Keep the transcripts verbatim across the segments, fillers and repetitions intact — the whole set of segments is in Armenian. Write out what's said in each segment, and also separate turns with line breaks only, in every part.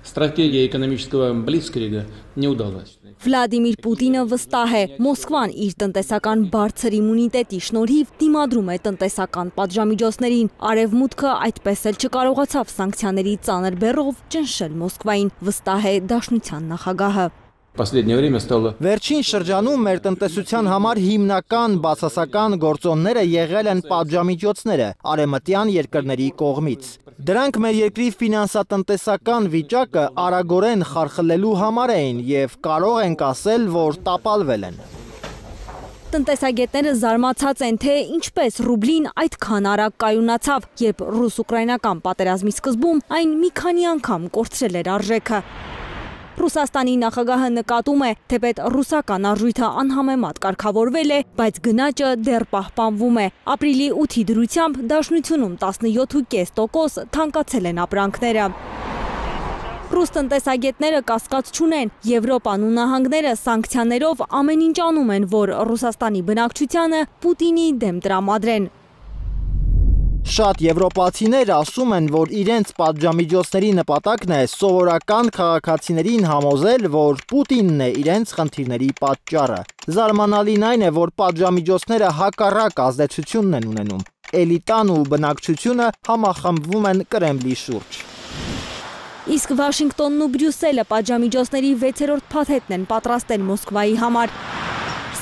Стратегия экономического блицкрига не удалась.
Վլադիմիր Պուտինը վստահ է, Մոսկվան իր տնտեսական բարձր իմունիտետի շնորհիվ դիմադրում է տնտեսական պատժամիջոցներին։ Արևմուտքը այդպես էլ չկարողացավ սանկցիաների ծանր բեռով ճնշել Մոսկվային, վստահ է Դաշնության նախագահը։
Վերջին շրջանում մեր տնտեսության համար հիմնական բացասական գործոնները եղել են պատժամիջոցները արևմտյան երկրների կողմից։ Դրանք մեր երկրի ֆինանսատնտեսական վիճակը արագորեն խարխլելու համար էին եւ կարող ենք ասել, որ տապալվել են։
Տնտեսագետները զարմացած են, թե ինչպես ռուբլին այդքան արագ կայունացավ, երբ ռուս-ուկրաինական պատերազմի սկզբում այն մի քանի անգամ կորցրել էր արժեքը։ Ռուսաստանի նախագահը նկատում է, թեպետ ռուսական արժույթը անհամեմատ կարգավորվել է, բայց գնաճը դեռ պահպանվում է։ Ապրիլի ութի դրությամբ Դաշնությունում տասնյոթ կόμμα պենս տոկոս թանկացել են ապրանքները։ Ռուս տնտեսագետները կասկած չունեն, Եվրոպան ու նահանգները սանկցիաներով ամեն ինչ անում են, որ Ռուսաստանի բնակչությանը Պուտինի դեմ տրամադրեն։
Շատ եվրոպացիներ ասում են, որ իրենց պատժամիջոցների նպատակն է սովորական քաղաքացիներին համոզել, որ Պուտինն է իրենց խնդիրների պատճառը։ Զարմանալին այն է, որ պատժամիջոցները հակառակ ազդեցությունն են ունենում։ Էլիտան ու բնակչությունը համախմբվում են Կրեմլի շուրջ։
Իսկ Վաշինգտոնն ու Բրյուսելը պատժամիջոցների վեցերորդ փաթեթն են պատրաստել Մոսկվայի համար։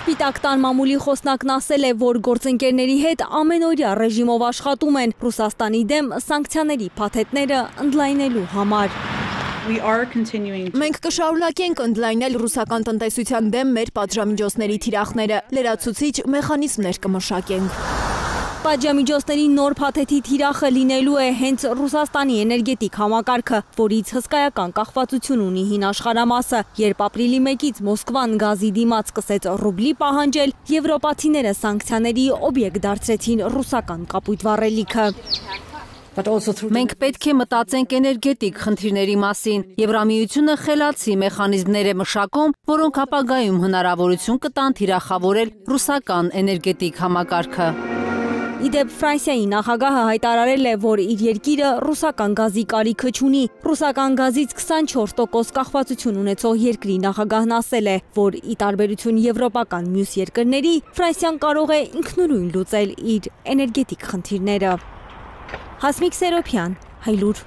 Սպիտակ տան մամուլի խոսնակն ասել է, որ գործընկերների հետ ամենօրյա ռեժիմով աշխատում են Ռուսաստանի դեմ սանկցիաների փաթեթները ընդլայնելու համար։
Մենք կշարունակենք ընդլայնել ռուսական տնտեսության դեմ մեր պատժամիջոցների թիրախները, լրացուցիչ մեխանիզմներ կմշակենք։
Պատժամիջոցների նոր փաթեթի թիրախը լինելու է հենց Ռուսաստանի էներգետիկ համակարգը, որից հսկայական կախվածություն ունի հին աշխարհամասը, երբ ապրիլի մեկից Մոսկվան գազի դիմաց սկսեց ռուբլի պահանջել, եվրոպացիները սանկցիաների օբյեկտ դարձրեցին ռուսական կապույտ վառելիքը։
Մենք պետք է մտածենք էներգետիկ խնդիրների մասին։ Եվրամիությունը խելացի մեխանիզմներ է մշակում, որոնք ապագայում հնարավորություն կտան թիրախավորել ռուսական էներգետիկ համակարգը։
Իդեպ Ֆրանսիայի նախագահը հայտարարել է, որ իր երկիրը ռուսական գազի կարիքը չունի։ Ռուսական գազից քսանչորս տոկոս կախվածություն ունեցող երկրի նախագահն ասել է, որ ի տարբերություն եվրոպական մյուս երկրների, Ֆրանսիան կարող է ինքնուրույն լուծել իր էներգետիկ խնդիրները։ Հասմիկ Սերոփյան, Հայլուր։